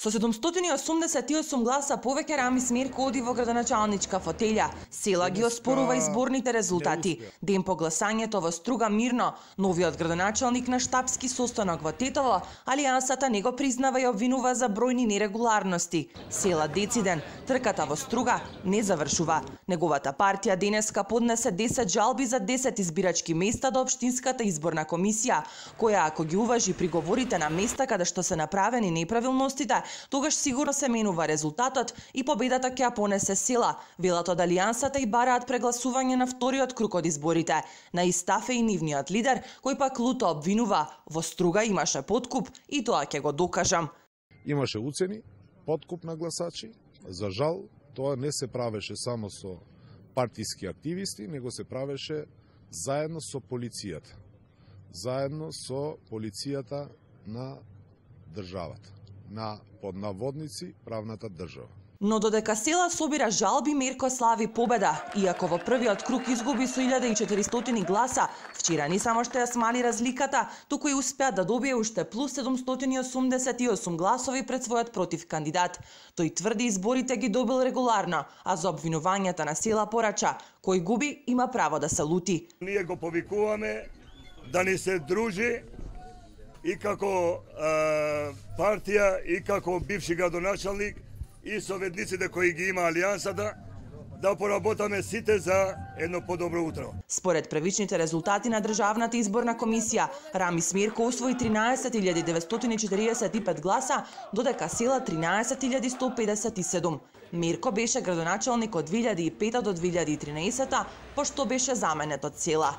Со 788 гласа повеќе Рами Смерко оди во градоначалничка фотелја. Села ги оспорува изборните резултати. Ден по гласањето во Струга мирно, новиот градоначалник на штабски состанок во Тетово, Алијансата не го признава и обвинува за бројни нерегуларности. Села Дециден, трката во Струга не завршува. Неговата партија денеска поднесе 10 жалби за 10 избирачки места до Општинската изборна комисија, која ако ги уважи приговорите на места каде што се направени неправилностите, тогаш сигурно се менува резултатот и победата ќе ја понесе Села. Велат од Алијансата и бараат прегласување на вториот круг од изборите. На истафе и нивниот лидер, кој пак луто обвинува, во Струга имаше подкуп и тоа ќе го докажам. Имаше уцени, подкуп на гласачи. За жал, тоа не се правеше само со партиски активисти, него се правеше заедно со полицијата. Заедно со полицијата на државата, на поднаводници правната држава. Но додека Села собира жалби, Мерко слави победа. Иако во првиот круг изгуби со 1400 гласа, вчера не само што ја смали разликата, туку и успеа да добие уште плюс 788 гласови пред својот против кандидат. Тој тврди изборите ги добил регуларно, а за обвинувањата на Села порача: кој губи има право да се лути. Ние го повикуваме да ни се дружи и како партија, и како бивши градоначалник, и советниците кои ги има Алијансата, да поработаме сите за едно подобро утро. Според првичните резултати на Државната изборна комисија, Рами Смерко освои 13.945 гласа, додека Села 13.157. Мерко беше градоначалник од 2005 до 2013, пошто беше заменет од Села.